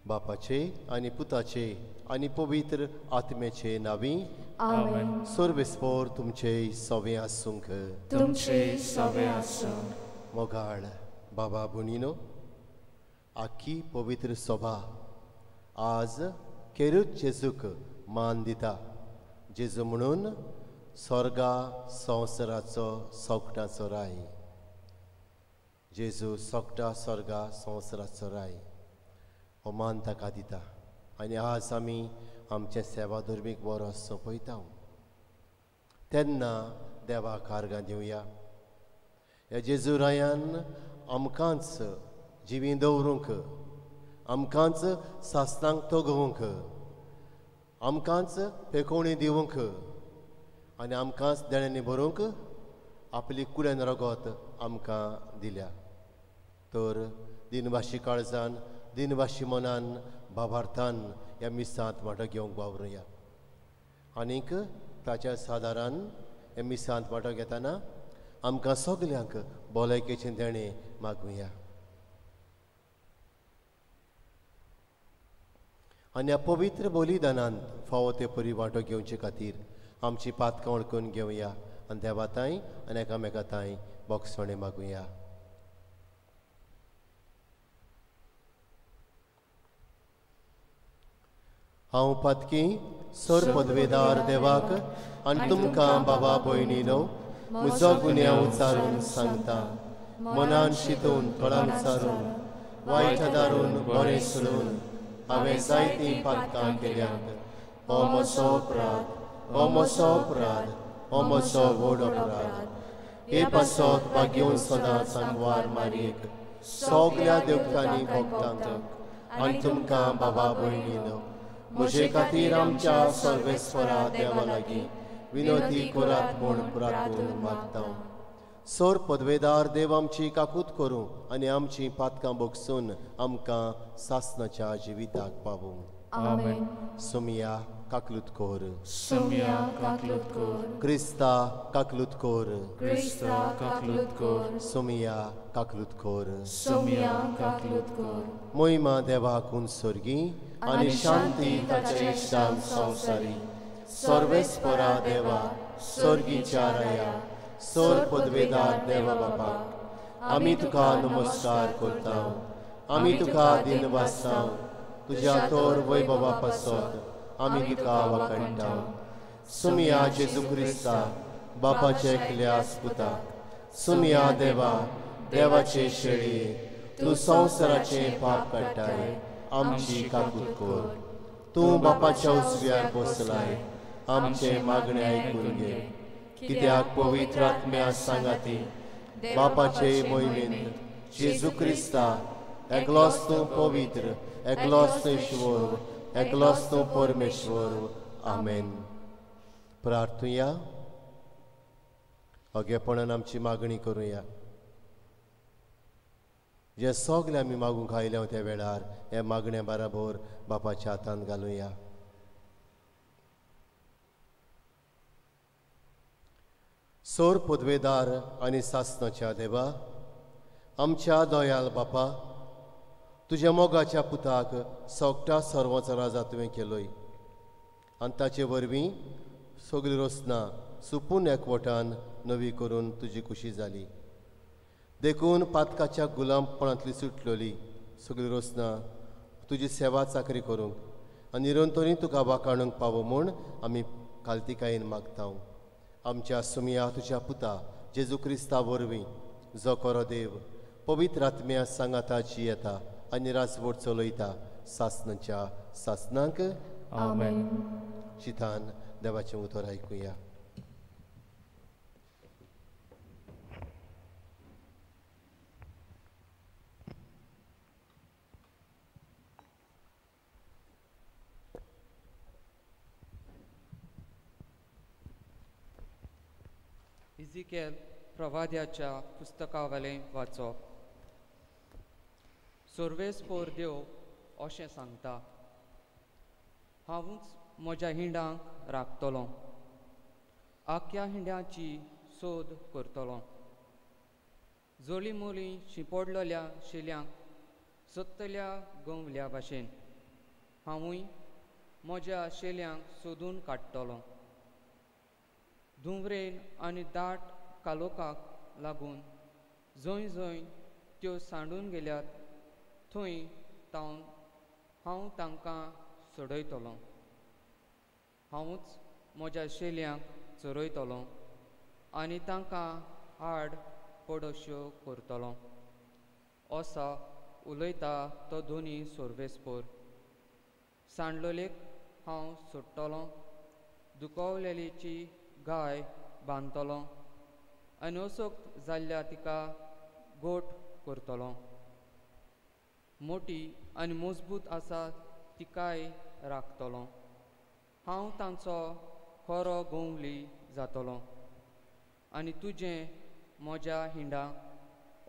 बापाचे आनी पुताचे आनी पवित्र आत्म्याचे नावी आमेन। सर्वेस्पोर तुमचे सवे आसूंक। तुमचे सवे आसूंक। मोगाळ बाबा भयणीनो, आखी पवित्र सभा आज केरूत जेजूक मान दिता। जेजू म्हणून स्वर्गा संवसाराचो सोगटाचो राय। जेजू सोगटा स्वर्गा संवसाराचो राय हो मान ताका दिता। आनी आज आमी आमचें सेवा धर्मीक बरो सोंपयता तेन्ना देवाक आर्गां दिवया। ह्या जेजू रायान आमकांच जिवीं दवरूंक, आमकांच सासणांक तगोवंक, आमकांच पेकोवणी दिवंक आनी आमकांच देण्यांनी भरूंक आपली कुड्यान रगत आमकां दिल्या। तर दिनवाशी काळजान, दिनवाशी मनान, भावार्थान ह्या मिसांत वांटो घेवंक वावरुया। आनीक ताच्या सादारान ह्या मिसांत वांटो घेतना आमकां सगल्यांक भलायकेचें देणें मागुया। आनी ह्या पवित्र बलिदानांत फावो ते परी वांटो घेवचे खातीर आमची पातकां वळखून घेवया आनी देवा तांय आनी एकामेका तांय बोगसणें मागुया। हांव पातकी सर पदवेदार देवाक आनी तुमकां बाबा भयणीनो म्हजो गुन्यांव उचारून सांगता। मनान शितून, थोडान उचारून, वायट दारून बरें सोडून हांवें जायतीं पातकां केल्यांत। हो म्हजो अपराध, हो म्हजो अपराध, हो म्हजो व्हड अपराध। हे पासत भाग्योवन सदांच आंगवार मारयेक सगल्या देवतांनी भोगतांक आनी तुमकां बाबा भयणीनो म्हजे खातीर आमच्या सर्वेस्वरा देवा लागीं विनोदी करात म्हूण प्रार्थून मागता। सोर पदवेदार देव आमची काकूत करूं आनी आमची पातकां बोगसून आमकां सासणाच्या जिविताक पावूं। आमेन। सोमिया काकलूत कोर। सोमिया काकलूत कोर। क्रिस्ता काकलूत कोर। क्रिस्ता काकलूत कोर। सोमिया काकलूत कोर। सोमिया काकलूत कोर। मोहिमा देवाक उंसर्गी आनी शांती ताचे इश्टान संवसारी। सर्वेस्परा देवा स्वर्गीच्या राया सोर पदवेदार देवा बापा, आमी तुका नमस्कार करता, आमी तुका दिनवासता। तुज्या तोर वैभवा पासत आमी तुका वाखाणटा। सुमिया जेजू क्रिस्ता बापाचे एकल्या पुता, सुमिया देवा देवाचे शेळये, तूं संवसाराचें पाप काडटाय, आमची काकूत कर। तूं बापाच्या उजव्यार बसलाय, आमचें मागणें आयकून घे। कित्याक पवित्र आत्म्या सांगाती बापाचे मोहिमेंत जेजू क्रिस्ता एकलोच तूं पवित्र, एकलोच तूं ईश्वर, एकलोच तूं परमेश्वर। आमेन। प्रार्थुया। अगेपणान आमची मागणी करुया। जे सगळे आमी मागूंक आयल्या त्या वेळार हे मागण्या बराबर बापाच्या हातांत घालुया। सोर पदवेदार आनी सासणाच्या देवा, आमच्या दयाल बापा, तुज्या मोगाच्या पुताक सोगटा सर्वांचो राजा तुवें केलोय आनी ताचे वरवीं सगळी रचना सुपून एकवटान नवी करून तुजी खुशी जाली. देखून पातकाच्या गुलामपणांतली सुटलोली सगळी रचना तुजी सेवा चाकरी करूंक आनी निरंतरी तुका वाखाणूंक पावो म्हूण आमी कालतिकायेन मागता. आमच्या सुमया तुज्या पुता जेजू क्रिस्ता वरवीं जो खरो देव पवित्र आत्म्या सांगाताची येता आनी राजवट चलयता सासनाच्या सासनाक. आमेन. शितान देवाचें उतर आयकुया. इझिकेल प्रवाद्याच्या पुस्तकावेलें वाचप. सर्वेस्पोर देव अशें सांगता, हांवूच म्हज्या हिंडांक राखतलो, आख्या हिंड्याची सोद करतलो. जोली मोली शिंपडलेल्या शेल्यांक सोदतल्या गंवल्या भाशेन हांवूय म्हज्या शेल्यांक सोदून काडटलो. धुंवरेन आनी दाट कालोकाक लागून जंय जंय त्यो सांडून गेल्यात थंय तावन हांव तांकां सोडयतलो. हांवूच म्हज्या शेल्यांक चरयतलो आनी तांकां आड पडोश्यो करतलो. असा उलयता तो दोनी सर्वेस्पोर. सांडलोलेक हांव सोडटलो, दुखवलेलीची गाय बांदतलो आनी असक्त जाल्ल्या तिका गोठ करतलो. मोटी आनी मजबूत आसा तिकाय राखतलो. हांव तांचो खरो गोंवली जातलो आनी तुजें म्हज्या हिंडा.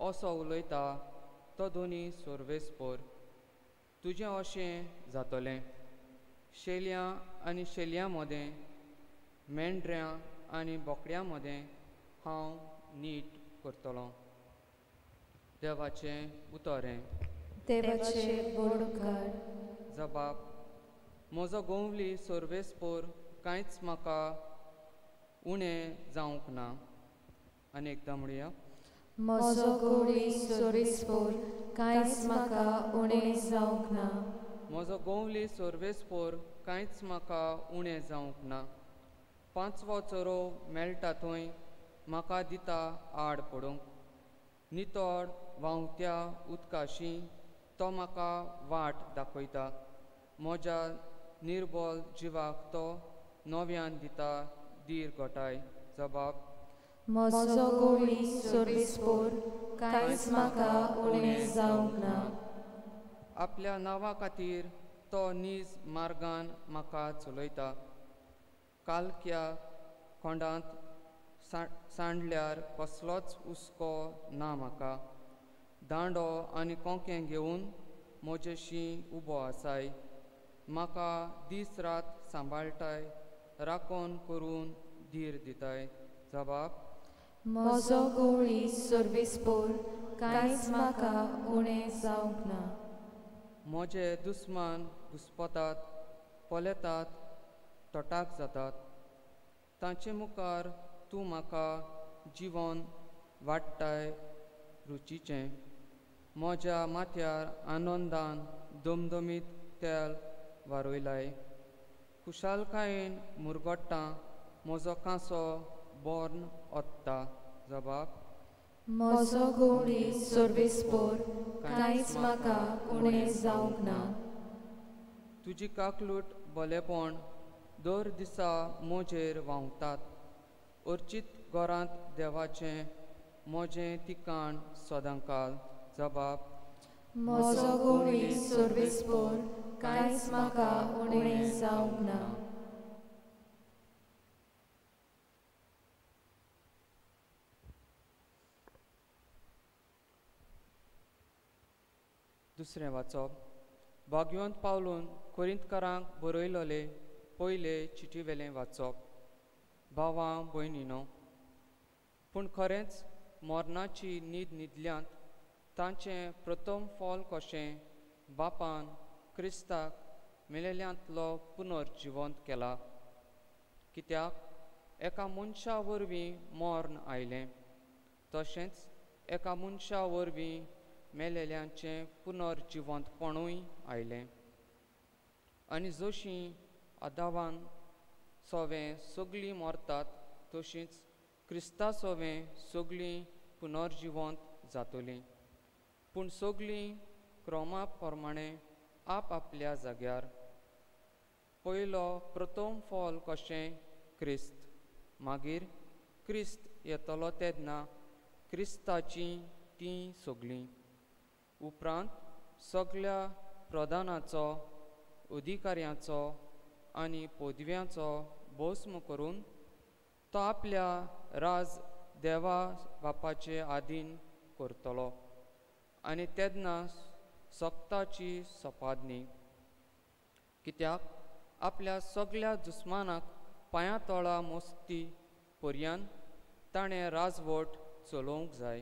असो उलयता तो दोनी सर्वेस्पोर. तुजें अशें जातलें, शेलयां आनी शेलयां मदें, मेंढऱ्यां आनी बोकड्यां मदें हांव नीट करतलो. देवाचें उतर हें. देवाचें व्हड उपकार. जबाब. म्हजो गोंवली सर्वेस्पोर कांयच म्हाका उणें जावंक ना. आनी एकदां म्हणया, म्हजो गोंवली सर्वेस्पोर कांयच म्हाका उणें जावंक ना. म्हजो गोंवली सर्वेस्पोर कांयच म्हाका उणें जावंक ना. पांचवो चरो मेळटा थंय म्हाका दिता आड पडूंक. नितळ व्हांवत्या उदकाशी तो म्हाका वाट दाखयता. म्हज्या निर्बल जिवाक तो नव्यान दिता धीर घटाय. जबाब. म्हजो गोंवली सर्वेस्पोर कांयच म्हाका उणें जावंक ना. आपल्या नांवा खातीर तो नीज मार्गान म्हाका चलयता. कालक्या खोंडांत सांडल्यार कसलोच हुस्को ना म्हाका. दांडो आनी कोंकें घेवन म्हजेशी उबो आसाय. म्हाका दीस रात सांबाळटाय, राखण करून धीर दिताय. जबाब. म्हजो गोंवली सर्वेस्पोर कांयच म्हाका उणें जावंक ना. म्हजे दुस्मान घुस्पतात, पळयतात, तटाक जातात. तांचे मुखार तूं म्हाका जिवन वाडटाय रुचीचें. म्हज्या माथ्यार आनंदान दमदमीत तेल वारयलाय. खुशालकायेन मुरगट्टा, म्हजो कांसो बोर्न ओत्ता. जबाब. म्हजो गोंवली सर्वेस्पोर कांयच म्हाका उणें जावंक ना. तुजी काकलूट बलेपण दर दिसा म्हजेर व्हांवतात. अर्चीत घरांत देवाचें म्हजें ठिकाण सदांकाल. जबाब. म्हजो गोंवली सर्वेस्पोर कांयच म्हाका उणें जावंक ना. दुसरें वाचप. भाग्यवंत पावलून कोरिंतकारांक बरयलोले पयले चिटीवेलें वाचप. भावां भयणीनो, पूण खरेंच मरणाची न्हीद न्हिदल्यांत तांचें प्रथम फल कशें बापान क्रिस्ताक मेलेल्यांतलो पुनर्जिवंत केला. कित्याक एका मनशा वरवीं मर्ण आयलें, तशेंच एका मनशा वरवीं मेलेल्यांचें पुनर्जिवंतपणूय आयलें. आनी जशीं आदावान सोवें सगळीं मरतात तशींच क्रिस्ता सोवें सगळीं पुनर्जिवंत जातलीं, पूण सगळीं क्रमा प्रमाणे आप आपल्या जाग्यार. पयलो प्रथम फल कशें क्रिस्त, मागीर क्रिस्त येतलो तेन्ना क्रिस्ताचीं तीं सगळीं. उपरांत सगळ्या प्रधानाचो, अधिकाऱ्यांचो आनी पदव्यांचो भस्म करून तो आपल्या राज देवा बापाचे आदीन करतलो आनी तेन्ना सक्ताची सपादनी. कित्याक आपल्या सगळ्या दुस्मानाक पांया तोळा मोस्ती पर्यान ताणें राजवट चलोवंक जाय.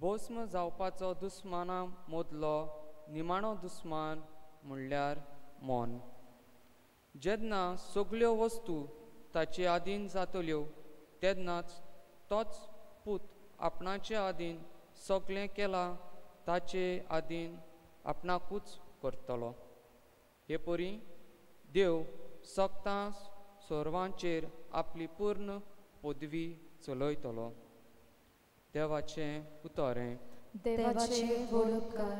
भस्म जावपाचो दुस्माना मदलो निमाणो दुस्मान म्हणल्यार मन. जेन्ना सगळ्यो वस्तू ताचे आदीन जातल्यो तेन्नाच तोच पूत आपणाचे आदीन सगळें केलां ताचे आदीन आपणाकूच करतलो. हे परी देव सक्तां सर्वांचेर आपली पूर्ण पदवी चलयतलो. देवाचें उतर हें. देवाचे व्हड उपकार.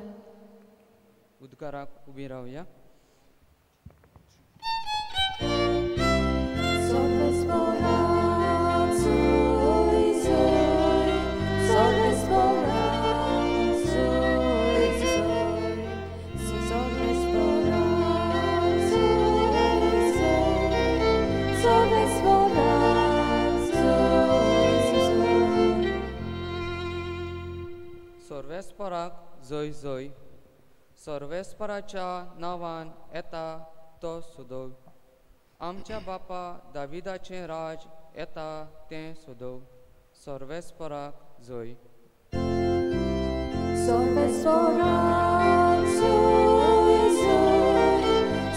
उद्गाराक उबी रावया. सर्वेस्पराक जय जय. सर्वेस्पराच्या नांवान येता तो सुदव. आमच्या बापा दाविदाचें राज येता तें सुदव. सर्वेस्पराक जय. सर्वेस्पराक जय जय.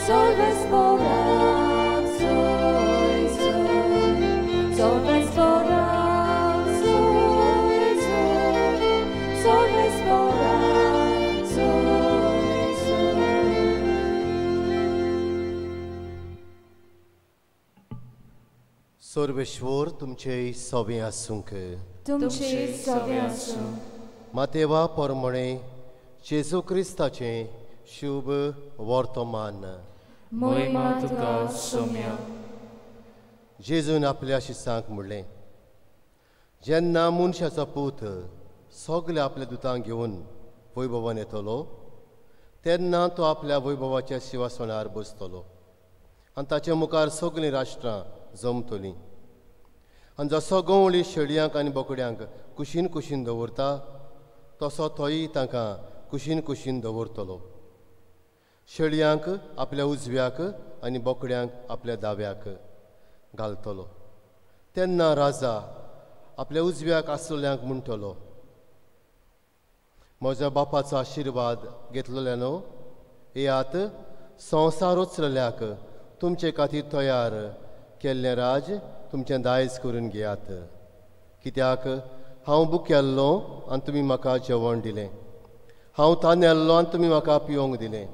सर्वेस्पराक जय जय. सर्वेस्पराक जय जय. सर्वेस्पराक जय जय. सर्वेश्वर तुमचे सवे आसूंक. तुमचे सवे आसूं. मातेवा परमणे जेजू क्रिस्ताचें शुभ वर्तमान. महिमा तुका सोम्या. जेजून आपल्या शिसांक म्हणलें, जेन्ना मनशाचो पूत सगल्या आपल्या दुतांक घेवन वैभवान येतलो तेन्ना तो आपल्या वैभवाच्या शिवासनार बसतलो आनी ताचे मुखार सगळीं राष्ट्रां जमतलीं. आनी जसो गंवळी शेळयांक आनी बोकड्यांक कुशीन कुशीन दवरता तसो तोय तांकां कुशीन कुशीन दवरतलो. शेळयांक आपल्या उजव्याक आनी बोकड्यांक आपल्या दाव्याक घालतलो. तेन्ना राजा आपल्या उजव्याक आसलेल्यांक म्हणटलो, म्हज्या बापाचो आशिर्वाद घेतलेल्यानो येयात संवसार उचलल्याक तुमचे खातीर तयार केल्लें राज तुमचें दायज करून घेयात. कित्याक हांव भुकेल्लो आनी तुमी म्हाका जेवण दिलें, हांव तानेल्लो आनी तुमी म्हाका पिवंक दिलें,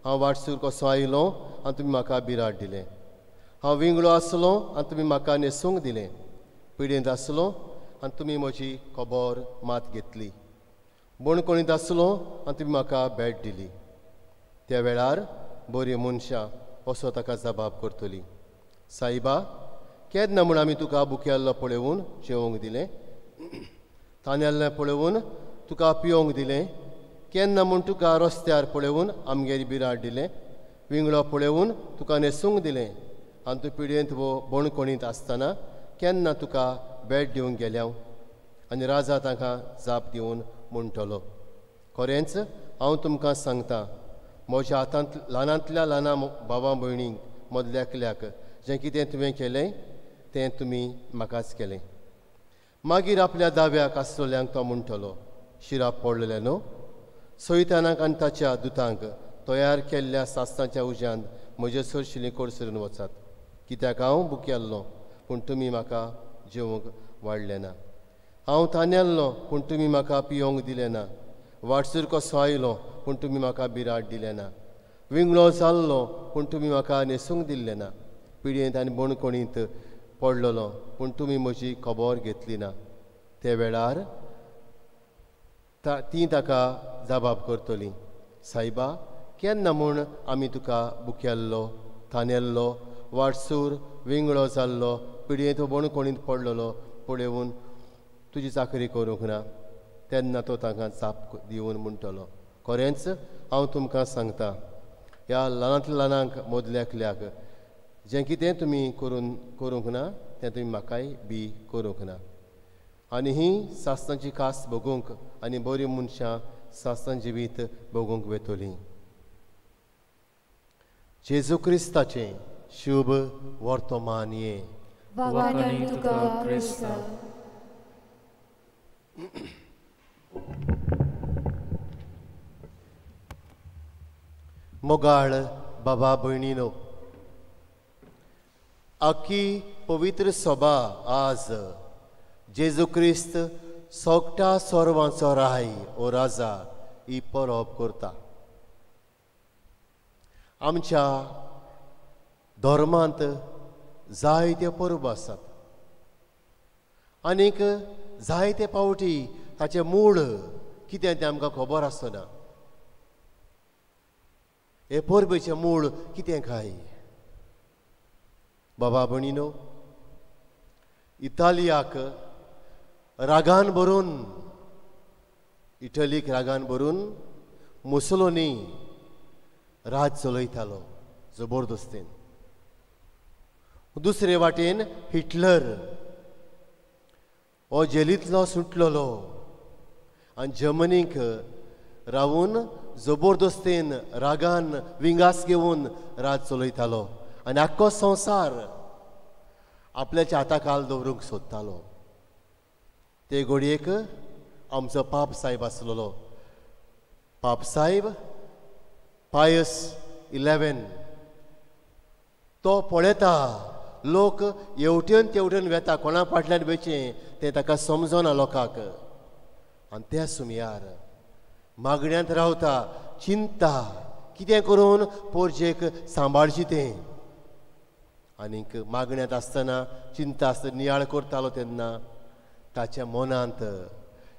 हांव वाटसूर कसो आयलो आनी तुमी म्हाका बिराड दिलें, हांव विंगळो आसलो आनी तुमी म्हाका न्हेसूंक दिलें, पिडेंत आसलो आनी तुमी म्हजी खबर मात घेतली, बणकोणींत आसलो आनी तुमी म्हाका भेट दिली. त्या वेळार बरीं मनशां असो ताका जबाब करतली, सायबा केन्ना म्हूण आमी तुका भुकेल्लो पळोवन जेवंक दिलें, तानेल्लें पळोवन तुका पिवंक दिलें, केन्ना म्हूण तुका रस्त्यार पळोवन आमगेर बिराड दिलें, विंगळो पळोवन तुका न्हेसूंक दिलें आनी तूं पिडयेंत वो बणकोणींत आसतना केन्ना तुका भेट दिवंक गेल्या? आनी राजा तांकां जाप दिवन म्हणटलो, खरेंच हांव तुमकां सांगता, म्हज्या हातांत ल्हानांतल्या ल्हाना भावा भयणींक मदल्या एकल्याक जें कितें तुवें केलें तें तुमी म्हाकाच केलें. मागीर आपल्या दाव्याक आसलेल्यांक तो म्हणटलो, शिराप पडलेले न्हू, सैतानाक आनी ताच्या दुतांक तयार केल्ल्या सासणाच्या उज्यांत म्हजे सरशिली कोडसरून वचात. कित्याक हांव भुकेल्लो पूण तुमी म्हाका जेवंक वाडलें ना, हांव तानेल्लो पूण तुमी म्हाका पियोंक दिलें ना, वाटसूर कसो आयलो पूण तुमी म्हाका बिराड दिलें ना, विंगळो जाल्लो पूण तुमी म्हाका न्हेसूंक दिल्लें ना, पिडयेंत आनी बणकोणींत पडलेलो पूण तुमी म्हजी खबर घेतली ना. ते वेळार ती ताका जबाब करतली, सायबा केन्ना म्हूण आमी तुका भुकेल्लो, तानेल्लो, वाटसूर, विंगळो जाल्लो, पिडयेंत बणकोणींत पडलेलो पळोवन तुजी चाकरी करूंक ना? तेन्ना तो तांकां जाप दिवन म्हणटलो, खरेंच हांव तुमकां सांगता, ह्या ल्हानांतल्या ल्हानांक मदल्या एकल्याक जें कितें तुमी करूंक ना तें तुमी म्हाकाय बी करूंक ना. आनी ही सासणाची कास भोगूंक आनी बरीं मनशां सासणां जिवीत भोगूंक वेतलीं. जेजू क्रिस्ताचें शुभ वर्तमान हें. वाखाणणी तुका क्रिस्ता. मोगाळ बाबा भयणीनो, आखी पवित्र सभा आज जेजू क्रिस्त सोगटा सोरवांचो राय ओ राजा ही परब करता. आमच्या धर्मांत जायत्यो परबो आसात आनीक जायते पावटी ताचें मूळ कितें तें आमकां खबर आसना. हे परबेचें मूळ कितें काय? बाबा भयणीनो, इतालियाक रागान भरून, इटलीक रागान भरून मुसोलिनी राज चलयतालो जबरदस्तीन. दुसरे वाटेन हिटलर हो जेलींतलो सुटलेलो आनी जर्मनीक रावून जबरदस्तीन रागान विंगास घेवन राज चलयतालो आनी आख्खो संवसार आपल्याच्या हाता खाल दवरूंक सोदतालो. ते घडयेक आमचो पाप साहेब आसलेलो, पाप साहेब पायस 11, तो पळयता लोक येवटेन तेवटेन वेता, कोणा फाटल्यान वेचें तें ताका समजना लोकांक. आनी त्या सुमयार मागण्यांत रावता, चिंता कितें करून पोरजेक सांबाळची तें. आनीक मागण्यांत आसतना चिंता आसतना नियाळ करतालो तेन्ना ताच्या मनांत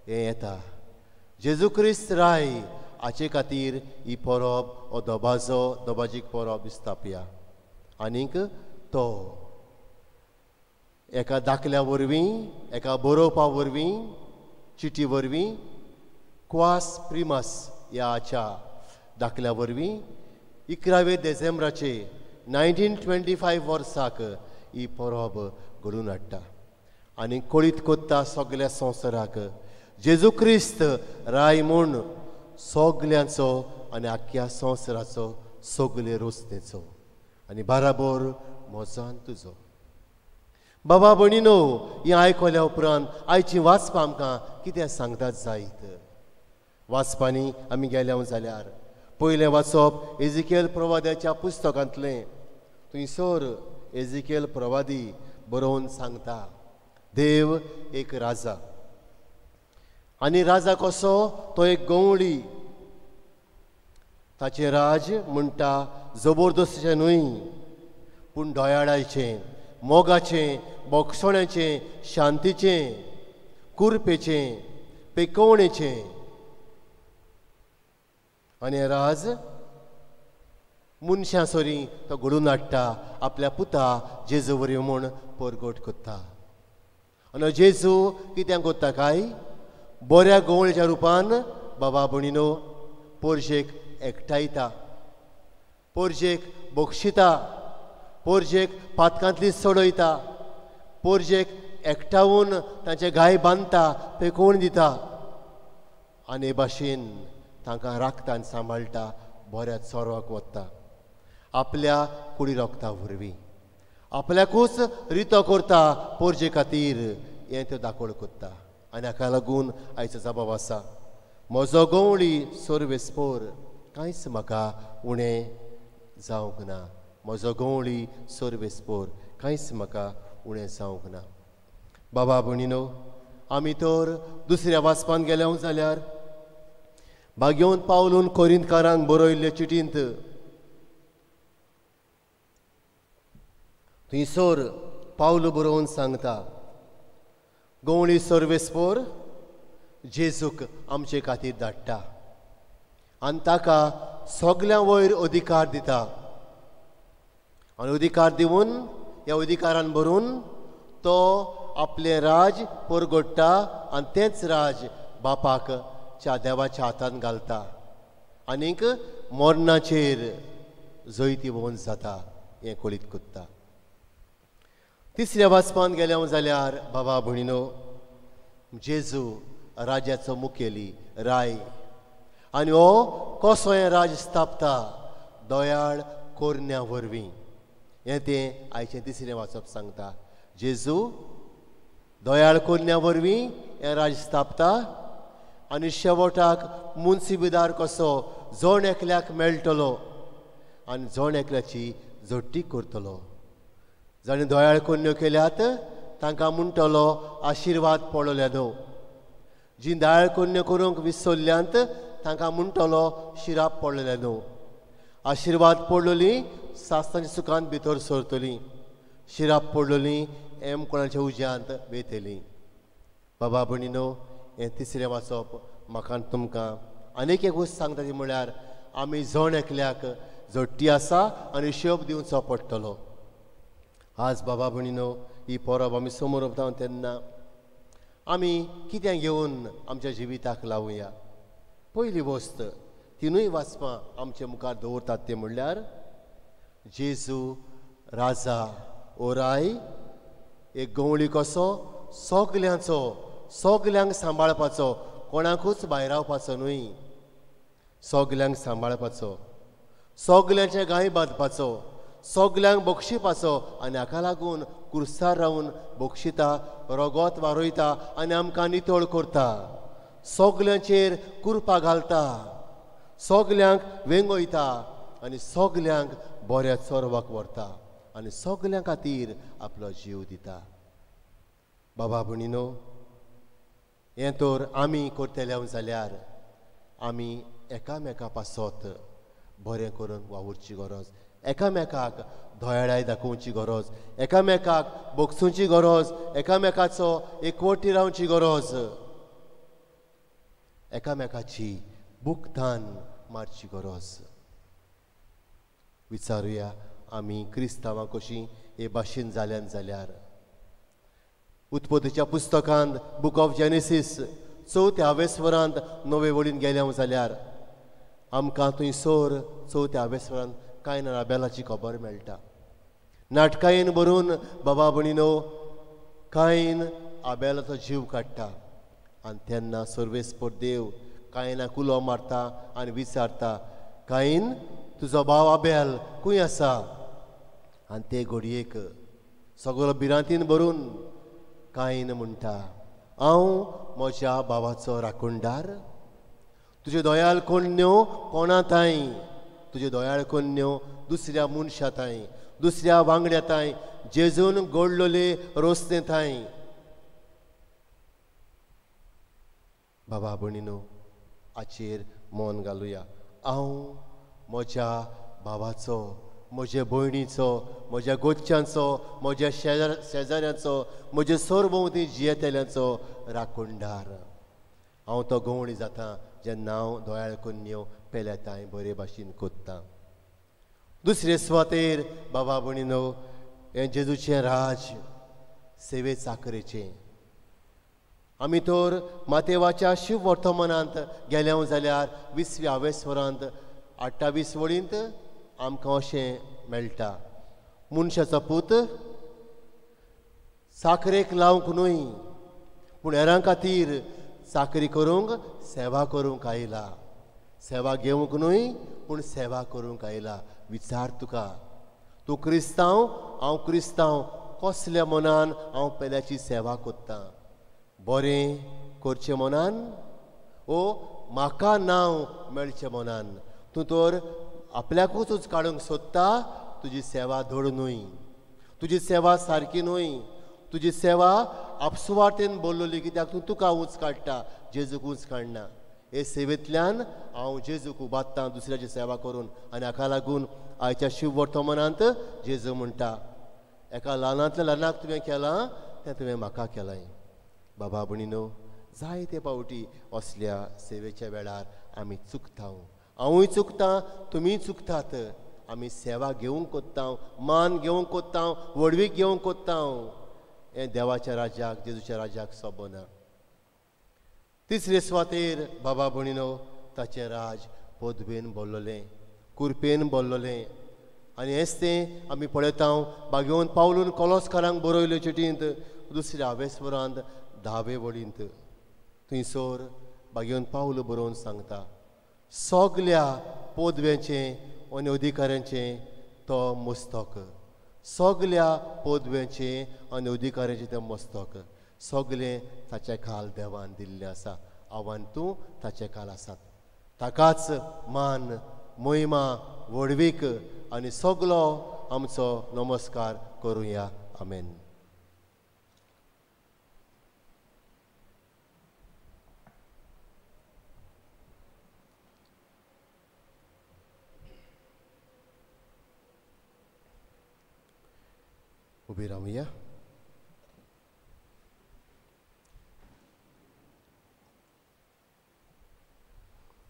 हें येता, जेजू क्रिस्त राय हाचे खातीर ही परब हो दबाजो दबाजीक परब स्थापया. आनीक तो एका दाखल्या वरवीं, एका बरोवपा वरवीं, चिटी वरवीं, क्वास प्रिमस ह्या हाच्या दाखल्या वरवीं 11 डिसेंबराचे 1925 वर्साक ही परब घडोवन हाडटा आनी कळीत कोत्ता सगल्या संवसाराक जेजू क्रिस्त राय म्हूण सगल्यांचो आनी आख्ख्या संवसाराचो सगले रचनेचो आनी बाराबोर म्हजो तुजो. बाबा भयणीनो, हें आयकल्या उपरांत आयची वाचपां आमकां कितें सांगतात जायत? वाचपांनी आमी गेल्या जाल्यार पयलें वाचप एजिकेल प्रवाद्याच्या पुस्तकांतलें. थंयसर एजिकेल प्रवादी बरोवन सांगता, देव एक राजा आनी राजा कसो? तो एक गवळी. ताचें राज म्हणटा जबरदस्तीचें न्हय पूण दयाळाचें, मोगाचें, बोगसण्याचें, शांतीचें, कुरपेचें, पेकोवणेचें. आनी राज मनशां सरी तो घडोवन हाडटा आपल्या पुता जेजू वरवीं म्हूण परगट करता. आनी जेजू कित्याक करता काय? बऱ्या गवळीच्या रुपान बाबा भयणीनो पोरजेक एकठांयता, पोरजेक बक्षिता, पोरजेक पातकांतली सोडयता, पोरजेक एकठावन तांचे गाय बांदता, पेकोवन दिता आनी हे भाशेन तांकां राखता आनी सांबाळटा, बऱ्या चोरवाक वता आपल्या कुडी रोगता वरवीं आपल्याकूच रितो करता पोरजे खातीर हें त्यो दाखोवण करता. आनी हाका लागून आयचो जबाब आसा, म्हजो गवळी सर्वेस्पोर कांयच म्हाका उणें जावंक ना. म्हजो गवळी सर्वेस्पोर कांयच म्हाका उणें जावंक ना. बाबा भयणीनो, आमी तर दुसऱ्या वाचपान गेल्या जाल्यार भाग्यवंत पावलून कोरिंतकारांक बरयल्ले चिटींत थंयसर पावलू बरोवन सांगता, गवळी सर्वेस्पोर जेजूक आमचे खातीर धाडटा आनी ताका सगल्यां वयर अधिकार दिता आनी अधिकार दिवन ह्या अधिकारान भरून तो आपलें राज परगोडटा आनी तेंच राज बापाक च्या देवाच्या हातान घालता आनीक मरणाचेर जैतिवंत जाता हें कळीत करता. तिसऱ्या वाचपान गेल्या जाल्यार बाबा भयणीनो, जेजू राजाचो मुखेली राय आनी हो कसो हें राज स्थापता दयाळ कोरण्या वरवीं हें तें आयचें तिसरें वाचप सांगता. जेजू दयाळ कोरण्या वरवीं हें राज स्थापता आनी शेवटाक मुन्सिबिदार कसो जण एकल्याक मेळटलो आनी जण एकल्याची झडटी करतलो. जाणें दयाळ कोन्न्यो केल्यात तांकां म्हणटलो आशिर्वाद पडल्या न्हू, जीं दयाळ कोन्न्यो करूंक विसरल्यांत तांकां म्हणटलो शिराप पडलेले न्हू. आशिर्वाद पडलोली सास्तांच्या सुखांत भितर सरतली, शिराप पडलोली एम कोणाच्या उज्यांत वयतली. बाबा भयणीनो, हें तिसरें वाचप म्हाका तुमकां आनीक एक वस्त सांगता ती म्हळ्यार आमी जण एकल्याक झडटी आसा आनी हिशोब दिवचो पडटलो. आज बाबा भयणीनो, ही परब आमी समोर वता तेन्ना आमी कितें घेवन आमच्या जिविताक लावया. पयली वस्त तिनूय वाचपां आमचे मुखार दवरतात तें म्हणल्यार जेजू राजा ओराय एक गवळी कसो सगल्यांचो, सगल्यांक सांबाळपाचो, कोणाकूच भायरावपाचो न्हय, सगल्यांक सांबाळपाचो, सगल्यांचे गांय बांदपाचो, सगल्यांक बक्षिपाचो आनी हाका लागून कुर्सार रावन बक्षिता, रगत वारयता आनी आमकां नितळ करता, सगल्यांचेर कुरपा घालता, सगल्यांक वेंगयता आनी सगल्यांक बऱ्या चोरवाक व्हरता आनी सगल्यां खातीर आपलो जीव दिता. बाबा भयणीनो, हें तर आमी करतले जाल्यार आमी एकामेका पासत बरें करून वावुरची गरज, एकामेकाक दयाळाय दाखोवची गरज, एकामेकाक बगसुची गरज, एकामेकाचो एकवटी रावची गरज, एकामेकाची बुकतान मारची गरज. विचारुया आमी क्रिस्तांवां कशीं हे भाशेन जाल्यान जाल्यार उत्पत्तीच्या पुस्तकांत बूक ऑफ जेनेसीस चवथ्या आवेस्वरांत नवे वळीन गेल्या जाल्यार आमकां थंयसर चवथ्या आवेस्वरांत कांय ना आबेलाची खबर मेळटा. नाटकायेन भरून बाबा भयणीनो कांयन आबेलाचो जीव काडटा आनी तेन्ना सर्वेस्पोर देव कायनाक उलो मारता आनी विचारता, कायन तुजो भाव आबेल खंय आसा? आनी ते घडयेक सगळो भिरांतीन भरून कायन म्हणटा, हांव म्हज्या भावाचो राखणदार, तुज्यो दयाळ कोन्न्यो कोणा तांय, तुज्यो दयाळ कोन्न्यो दुसऱ्या मनशा तांय, दुसऱ्या वांगड्या तांय, जेजून गोडलोले रोसते तांय. बाबा भयणीनो, हाचेर मन घालुया. हांव म्हज्या भावाचो, म्हज्या भयणीचो, म्हज्या गोच्यांचो, म्हज्या शेजाऱ्यांचो, म्हज्या सरभोंवती जियेतल्यांचो राखणदार. हांव तो गवळी जाता जेन्ना हांव दयाळ कोन्न्यो पेल्याताय बरे भाशेन कोत्ता. दुसरे सुवातेर बाबा भयणीनो, हें जेजूचें राज सेवे चाकरेचें. आमी तर मातेवाच्या शिव वर्तमानांत गेल्या जाल्यार 20व्या आवेस्वरांत 28 वळींत आमकां अशें मेळटा, मनशाचो पूत साकरेक लावंक न्हय पूण हेरां खातीर चाकरी करूंक, सेवा करूंक आयला. सेवा घेवंक न्हय पूण सेवा करूंक आयला. विचार तुका, तूं क्रिस्तांव, हांव क्रिस्तांव, कसल्या मनान हांव पेल्याची सेवा करतां? बरें करचें मनान ओ म्हाका नांव मेळचें मनान. तूं तर आपल्याकूच काडूंक सोदता. तुजी सेवा धड न्हय, तुजी सेवा सारकी न्हय, तुजी सेवा आपसुवार्थेन बोल्लोली, कित्याक तूं तुका ऊंच काडटा, जेजूक ऊंच काडना. हे सेवेंतल्यान हांव जेजूक उबारतां दुसऱ्याची सेवा करून. आनी हाका लागून आयच्या शिववर्तमानांत जेजू म्हणटा, एका ल्हानांतल्या ल्हानाक तुवें केलां तें तुवें म्हाका केलां. बाबा भयणीनो, जायते पावटी असल्या सेवेच्या वेळार आमी चुकता. हांवूय चुकता, तुमीय चुकतात. आमी सेवा घेवंक कोत्ता, मान घेवंक कोत्ता, व्हडवीक घेवंक कोत्ता. हें देवाच्या राज्याक, जेजूच्या राज्याक सोबना. तिसरे सुवातेर बाबा भयणीनो, ताचें राज पदवेन भरलेलें, कुरपेन भरलेलें. आनी हेंच तें आमी पळयता बागेवन पावलून कोलोसकारांक बरयल्यो चिटींत दुसऱ्या आवेस्वरांत धावे वळींत. थंयसर बागेवन पावल बरोवन सांगता, सगल्या पदव्यांचें आनी अधिकाऱ्यांचें तो मस्तक, सगल्या पदव्यांचें आनी अधिकाऱ्यांचें तें मस्तक, सगलें ताचे खाल देवान दिल्लें आसा. आव्हान तूं ताचे खाल आसात. ताकाच मान, महिमा, व्हडवीक आनी सगलो आमचो नमस्कार करुया. आमेन. उबी रावया.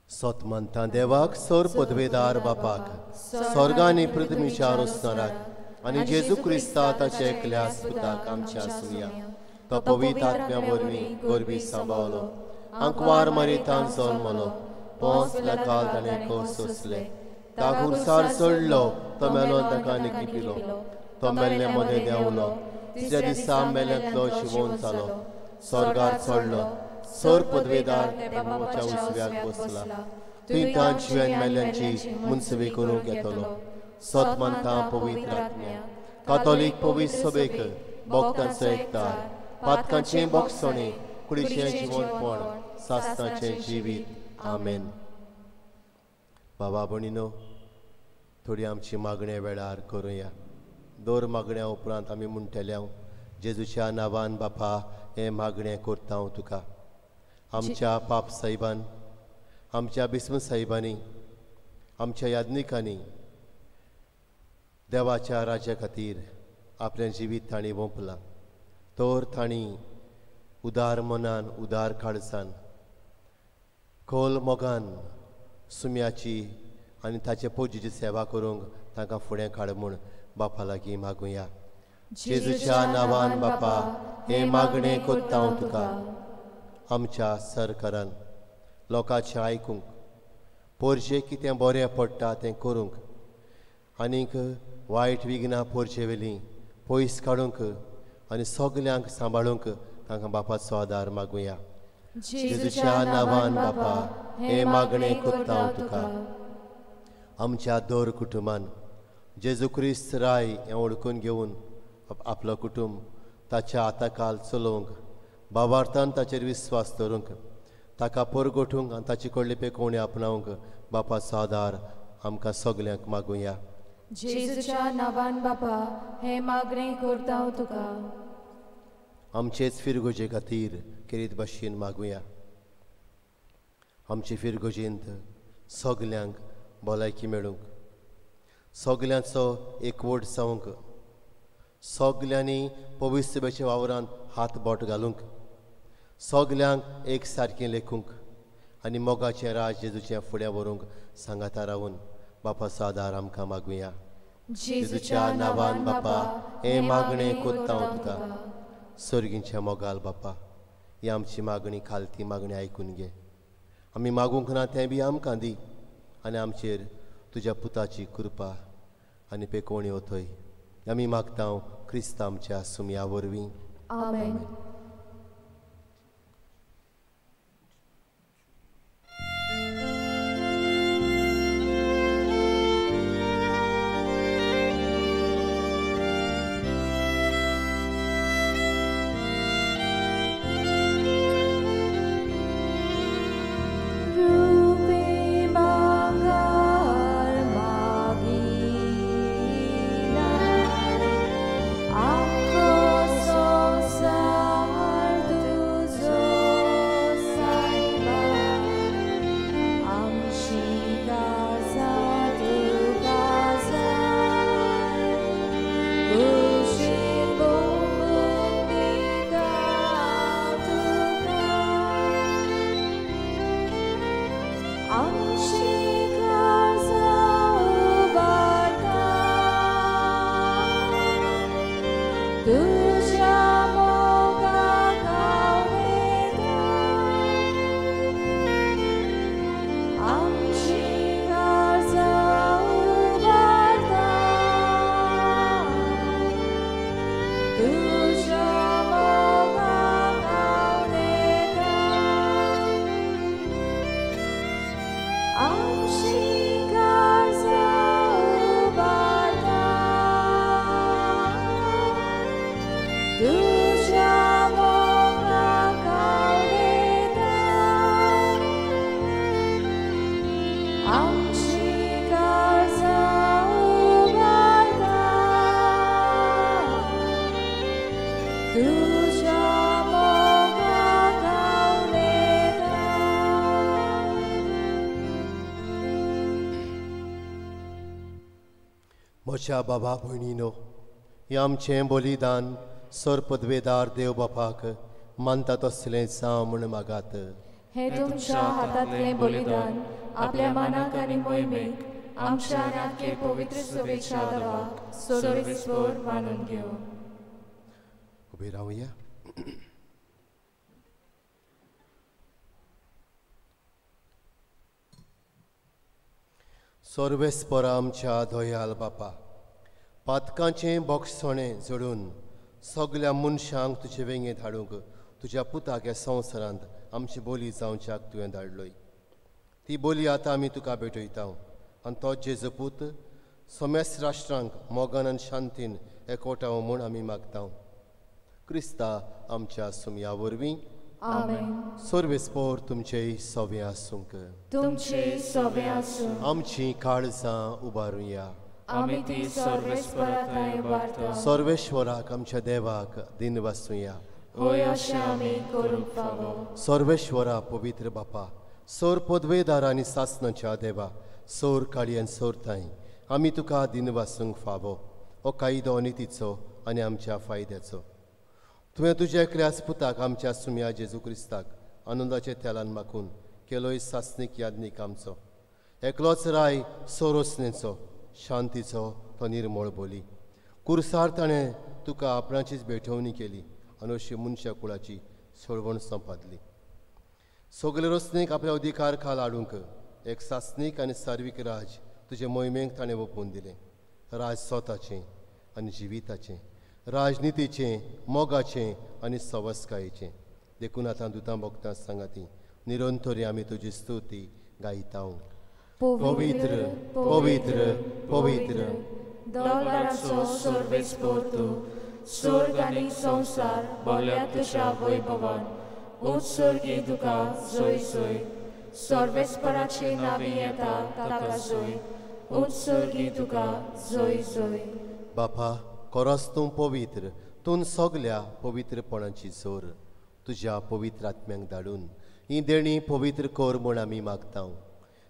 सत मानता देवाक, सर पदवेदार बापाक, स्वर्गानी पृथ्वीच्या रोसणाराक आनी जेजू क्रिस्ता ताच्या एकल्या पुताक आमच्या आसुया. तो पवित्र आत्म्या वरवीं गोरवी सांबावलो, आंकवार मरितान जल्मलो, पोंच काल ताणें कोस सोंसले, तागुरसार चडलो, तो मेलो, ताका निकिपिलो, तो मेल्ले मदें देंवलो, तिसऱ्या दिसा मेल्यांतलो शिवोन जालो, स्वर्गार चडलो, सर पदवेदार देवाच्या उजव्याक बसला, थंय तान जिव्यान मेल्यांची मुनसबी करूंक येतलो. सत मानता पवित्र आत्म्या, कातोलीक पवित्र सभेक, भक्तांचो एकतार, पातकांचें बोगसणें, कुडीचें जिवनपण, सासणाचें जिवीत. आमेन. बाबा भयणीनो, थोडी आमची मागण्या वेळार करुया. दर मागण्या उपरांत आमी म्हणटले, जेजूच्या नांवान बापा हें मागणें करता हांव तुका. आमच्या पाप साहेबान, आमच्या बिस्म साहेबांनी, आमच्या याज्ञिकांनी देवाच्या राज्या खातीर आपलें जिवीत तांणी वोंपलां. तर तांणी उदार मनान, उदार काळजान, खोल मोगान सुम्याची आनी ताचे पोजीची सेवा करूंक तांकां फुडें काड म्हूण बापा लागीं मागुया. जेजूच्या नांवान बापा हें मागणें करता हांव तुका. आमच्या सरकारान लोकांचें आयकूंक, पोरजे कितें बरें पडटा तें करूंक, आनीक वायट विघ्नां पोरजेवेलीं पयस काडूंक आनी सगल्यांक सांबाळूंक तांकां बापाचो आदार मागुया. जेजूच्या नांवान बापा हें मागणें करता हांव तुका. आमच्या दर कुटुंबान जेजू क्रिस्त राय हें वळखून घेवन आपलो कुटुंब ताच्या हाताखाल चलोवंक, बाबार्थान ताचेर विस्वास दवरूंक, ताका परगोठूंक आनी ताचे कडले पेकोवणी आपणावंक बापाचो आदार आमकां सगल्यांक मागुया. जेजूच्या नांवान बापा हें मागणें करता हांव तुका. आमचेच फिरगोजे खातीर खेरीत भाशेन मागुया. आमचे फिरगोजेंत सगल्यांक भलायकी मेळूंक, सगल्यांचो एकवट जावंक, सगल्यांनी पवित्रसभेच्या वावरांत हात बोट घालूंक, सगल्यांक एक सारकें लेखूंक आनी मोगाचें राज जेजूचें फुडें व्हरूंक सांगाता रावून बापाचो आदार आमकां मागुया. जेजूच्या नांवान बापा हें मागणें करता हांव तुका. सर्गींच्या मोगाल बापा, ही आमची मागणी खालती मागणी आयकून घे. आमी मागूंक ना तें बी आमकां दी आनी आमचेर तुज्या पुताची कृपा आनी पेकोवणी ओतय. आमी मागता क्रिस्त आमच्या सुमया वरवीं. आमेन. Rule. तुज्या मोगाक हांव म्हज्या बाबा भयणीनो, हें आमचें बलिदान सर पदवेदार देव बापाक मानता तसलें जावं म्हूण मागात. हे तुमच्या हातांतलें बलिदान आपल्या मनाक आनी मोहिमेक आमच्या आनी आख्खे पवित्र सभेच्या देवाक सर्वेस्पर मानून घेवं. उबे रावया. सर्वेस्पर आमच्या दयाल बापा, पातकांचें बोगसणें जोडून सगल्या मनशांक तुजे वेंगेंत हाडूंक तुज्या पुताक ह्या संवसारांत आमची बोली जावच्याक तुवें धाडलोय. ती बोली आतां आमी तुका भेटयता आनी तो जेजू पूत समेस्त राष्ट्रांक मोगान आनी शांतीन एकवटाव म्हूण आमी मागता. क्रिस्ता आमच्या सुमया वरवीं. आमेन. सर्वेस्पर तुमचेय सवे आसूंक. तुमचे सवे आसूं. आमची काळजां उबारुया. आमी ती सर्वेस्परा थंय उबारता. सर्वेश्वराक आमच्या देवाक दिन वासुया. होय अशें आमी करूंक फावो. सर्वेश्वरा पवित्र बापा, सोर पदवेदार आनी सासणाच्या देवा, सोर काळी आनी सोर ताई, आमी तुका दिन वासूंक फावो. हो कायदो नितीचो आनी आमच्या फायद्याचो. तुवें तुज्या एकल्याच पुताक आमच्या सुम्या जेजू क्रिस्ताक आनंदाच्या तेलान माखून केलोय सासणीक यादनीक आमचो. एकलोच राय सोरोसणेचो शांतीचो तो निर्मळ बोली. कुर्सार ताणें तुका आपणाचीच भेटवणी केली आनी अशी मनशा कुळाची सोडवण संपादली. सगळे रचणेक आपल्या अधिकार खाल हाडूंक एक सासणीक आनी सार्वीक राज तुजे मोहिमेक ताणें ओंपून दिलें. राज स्वताचें आनी जिविताचें, राजनितीचें, मोगाचें आनी सवस्कायेचें. देखून आतां दुतां भोगतां सांगाती निरंतरी आमी तुजी स्तुती गायता. पवित्र पवित्र पवित्र दोलाराचो सर्वेस्पर तूं, स्वर्ग आनी संवसार भरल्या तुज्या वैभवान. उत्सर्गी तुका जय जय. सर्वेस्पराचे नांवी येता ताका जय. उत्सर्गी तुका जय जय. बापा, खरोच तूं पवित्र, तूं सगल्या पवित्रपणाची जोर. तुज्या पवित्र आत्म्यांक धाडून ही देणी पवित्र कर म्हूण आमी मागता.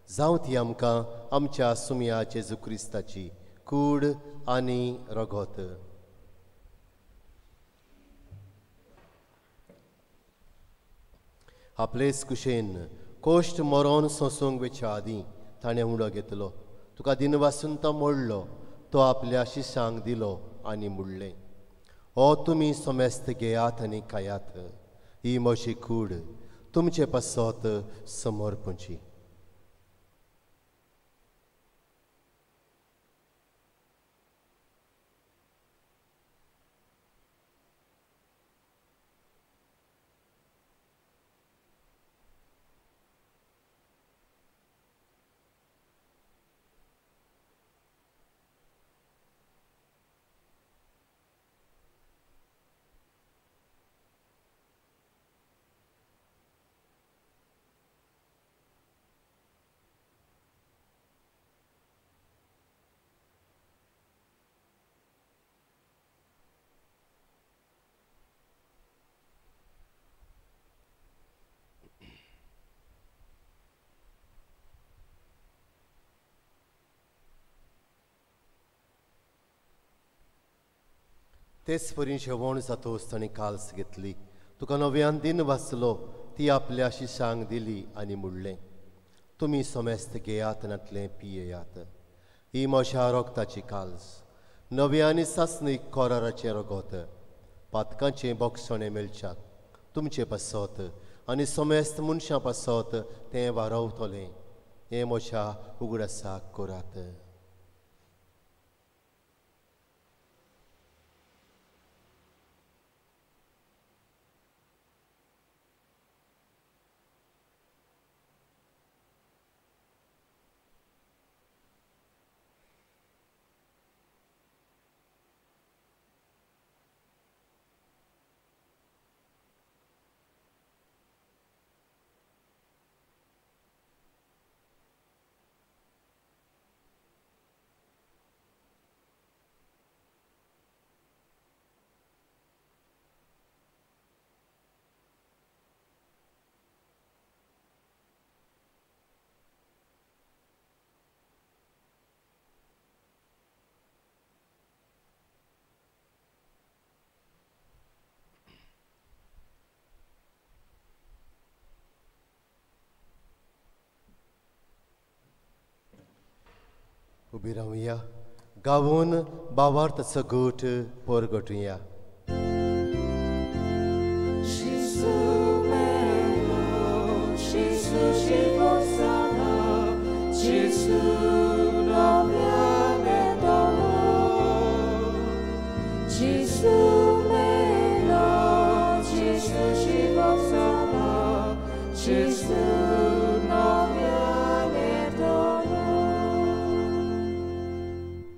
जावं ती आमकां आमच्या सुमया जेजू क्रिस्ताची कूड आनी रगत. आपलेच कुशेन कोश्ट मरोन सोंसूंक वेच्या आदीं ताणें उडो घेतलो. तुका दिनवासून तो मोडलो, तो आपल्या शिशांक दिलो आनी म्हणलें, हो तुमी समेस्त घेयात आनी खायात, ही म्हजी कूड तुमचे पासत समर्पणची. तेच परी जेवण जातोच ताणें काल्स घेतली, तुका नव्यान दिन वाचलो, ती आपल्या शिशांक दिली आनी म्हणलें, तुमी समेस्त घेयात नातलें पियेयात, ही म्हज्या रोगताची काल्स, नव्या आनी सासणीक कोराराचें रगत, पातकांचें बोगसणें मेळच्याक तुमचे पासत आनी समेस्त मनशां पासत तें वारवतलें. हें म्हज्या उगडासाक करात. उबी रावया गावून बावार्थाचो गोट परगटुया.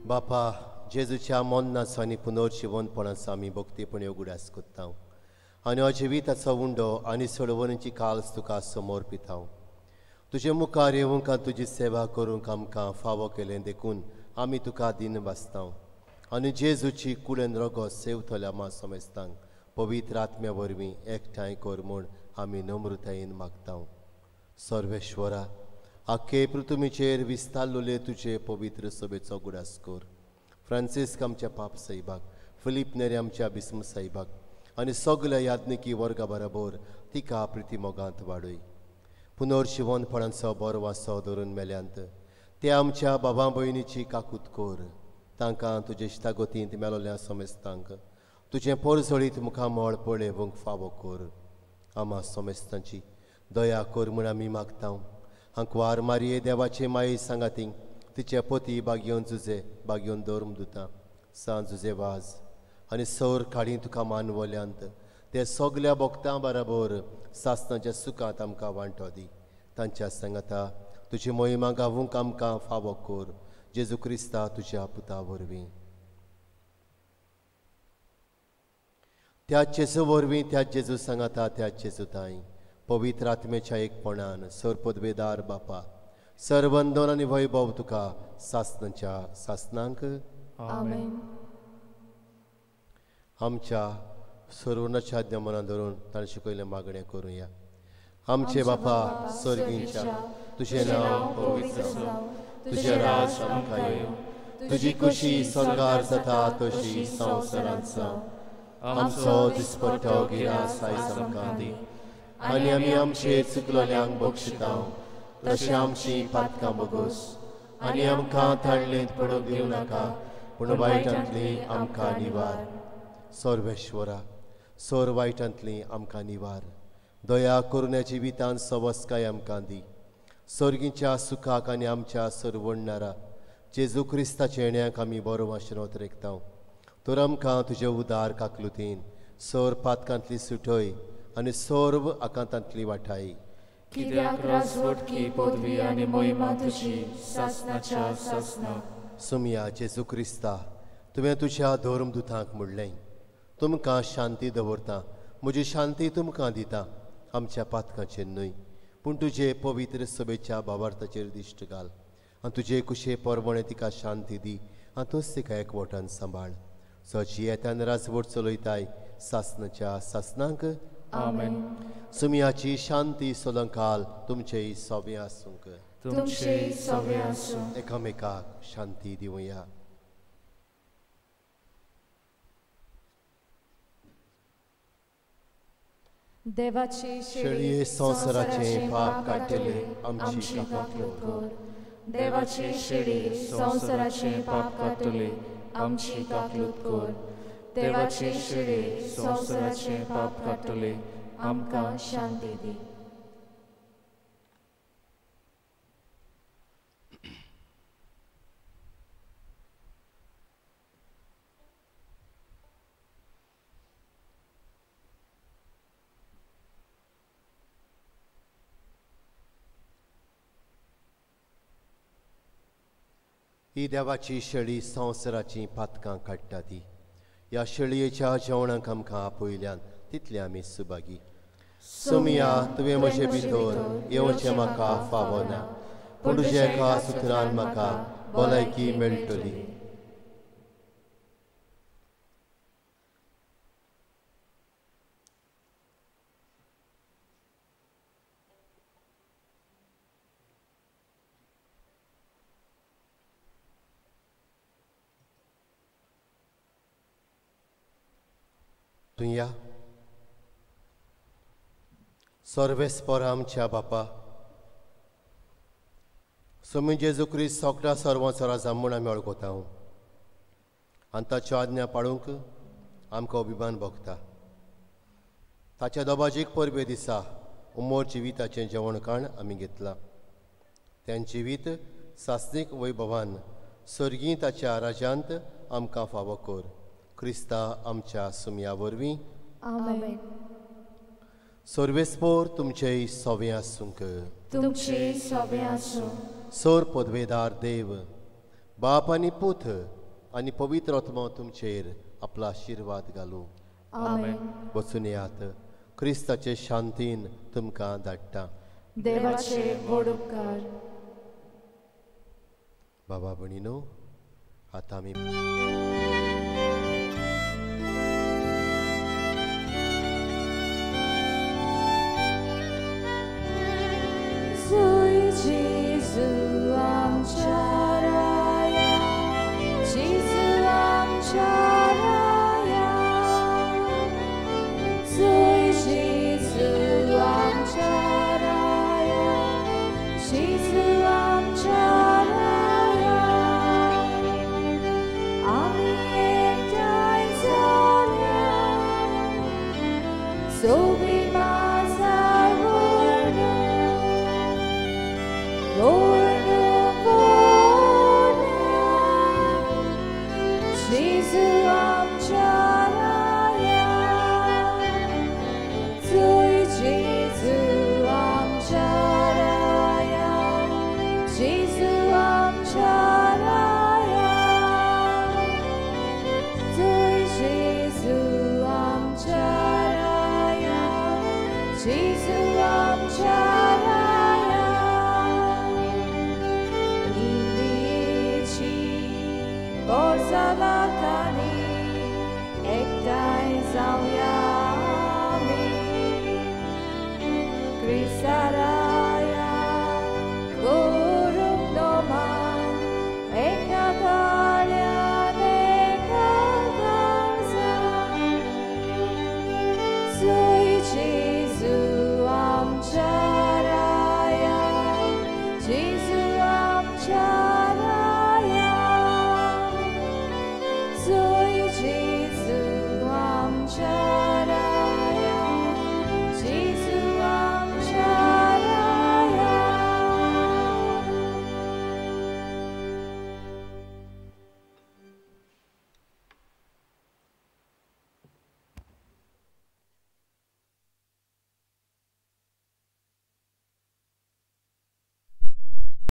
बापा जेजूच्या मरणाचो आनी पुनर्जिवनपणाचो आमी भक्तीपणी उगडास करता आनी हो जिविताचो उंडो आनी सोडवणीची काल्स तुका समर्पिता. तुजे मुखार येवंक आनी तुजी सेवा करूंक आमकां फावो केलें देखून आमी तुका दिन भासता आनी जेजूची कुडेन रगत सेवतल्या मा समेस्तांक पवित्र आत्म्या वरवीं एकठांय कर म्हूण आमी नम्रतायेन मागता. सर्वेश्वरा आख्खे पृथ्वीचेर विस्तारलेले तुजे पवित्र सभेचो उगडास कर. फ्रांसिस्क आमच्या पाप साहेबाक, फिलीप नेरी आमच्या बिस्म साहेबाक आनी सगल्या याज्ञिकी वर्गा बरोबर तिका प्रितीमोगांत वाडय. पुनर्जिवनपणाचो बरो वासो धरून मेल्यांत ते आमच्या बाबा भयणीची काकूत कर. तांकां तुजे इश्टागतींत मेलोल्या समेस्तांक तुजें पोरजळीत मुखामळ पळोवंक फावो कर. आमा समेस्तांची दया कर म्हूण आमी मागता. आंकवार मारये देवाचे माये सांगाती तिचे पती बागयोन जुजे बागयोन धर्म दुता सांज जुजे वाज आनी सौर काळी तुका मानवल्यांत ते सगल्या भक्तां बराबर सासणाच्या सुखांत आमकां वांटो दी. तांच्या सांगाता तुजी मोहिमा गावूंक आमकां फावो कर. जेजू क्रिस्ता तुज्या पुता वरवीं. त्या जेजू वरवीं, त्या जेजू सांगाता, त्या जेजू ताई पवित्र आत्मेच्या एकपणान सरपदवेदार बापा सर्वंदन आनी वैभव तुका सासणाच्या सासणांक. आमेन. आमच्या सर्वनाच्या आज्ञा मनान धरून ताणें शिकयल्लें मागणें करुया. आमचे बापा स्वर्गींच्या, तुजें नांव पवित्र जावं, तुजें राज आमकां येवं, तुजी खुशी स्वर्गार जाता तशी संवसारांत जावं. आमचो दिसपट्टो गिरास आयज आमकां दी आनी आमी आमचे चुकलोल्यांक बक्षिता तशें आमची पातकां बोगोस आनी आमकां ताळणेंत पडूंक दिवं नाका पूण वायटांतली आमकां निवार. सर्वेश्वरा सोर वायटांतली आमकां निवार. दया करुण्या जिवितान सवस्काय आमकां दी. सर्गीच्या सुखाक आनी आमच्या सरवणणारा जेजू क्रिस्ताच्या येण्याक आमी बरो वाशनोत रेखता. तर आमकां तुजे उदार काकलुतीन सोर पातकांतली सुटय आनी सर्व आकांतांतली वाटाय. कित्याक राजवटकी पदवी आनी मोहिमा तुजी सासणाच्या सासणाक. सुमया जेजू क्रिस्ता, तुवें तुज्या धर्मदुतांक म्हणलें, तुमकां शांती दवरता, म्हजी शांती तुमकां दिता, आमच्या पातकांचेर न्हय पूण तुजे पवित्र सभेच्या भावार्थाचेर दिश्ट घाल आनी तुजे कुशे परवणे तिका शांती दी आनी तूंच तिका एकवटान सांबाळ. सची येतान राजवट चलयताय सासणाच्या सासणांक. आमेन. सुमयाची शांती सदांकाल तुमचेय सोबे आसूंक. तुमचेय सोबे आसूं. एकामेकाक शांती दिवया. देवाची शेळये संवसाराचें पाप काडटले आमची काकूत कर. देवाची शेळी संवसाराचें पाप काडटले आमची काकूत कर. देवाची शेळी संवसाराचें पाप काडटले आमकां शांती दी. ही देवाची शेळी संवसाराचीं पातकां काडटा ती. ह्या शेळयेच्या जेवणाक आमकां आपयल्यान तितले आमी सुभागी. सोमिया, तुवें म्हजे भितर येवचें म्हाका फावना, पूण तुज्या एका सुत्रान म्हाका भलायकी मेळटली. तुया सर्वेस्पर आमच्या बापा, सोमी जेजू क्रिस्त सगळ्या सर्वांचो राजा म्हूण आमी वळखता आनी ताच्यो आज्ञा पाळूंक आमकां अभिमान भोगता. ताच्या दबाजीक परबे दिसा उमर जिविताचें जेवणखाण आमी घेतलां. तें जिवीत सासणीक वैभवान सर्गीं ताच्या राज्यांत आमकां फावो कर. क्रिस्ता आमच्या सुमया वरवीं. आमेन. सर्वेस्पोर तुमचेय सोवे आसूंक. तुमचे सोवे आसूं. सर पदवेदार देव बाप आनी पूत आनी पवित्र आत्मो तुमचेर आपलो आशिर्वाद घालूं. आमेन. वचून येयात. क्रिस्ताचे शांतीन तुमकां धाडटा. देवाचे व्हड उपकार. बाबा भयणीनो, आतां आमी जेजू आमच्या राया, जेजू आमच्या राया, जेजू आमच्या राया, जेजू आमच्या राया, आमी एकठांय जाल्या सोबीत माजार जेजू आमच्या राया, जेजू आमच्या राया, जेजू आमच्या राया, जेजू आमच्या राया, जेजू आमच्या राया. बोर्सालाकानी एकठांय जावया आमी, क्रिस्ता राया करूंक नोमान, एका ताळ्यान एका काळजान. जेजू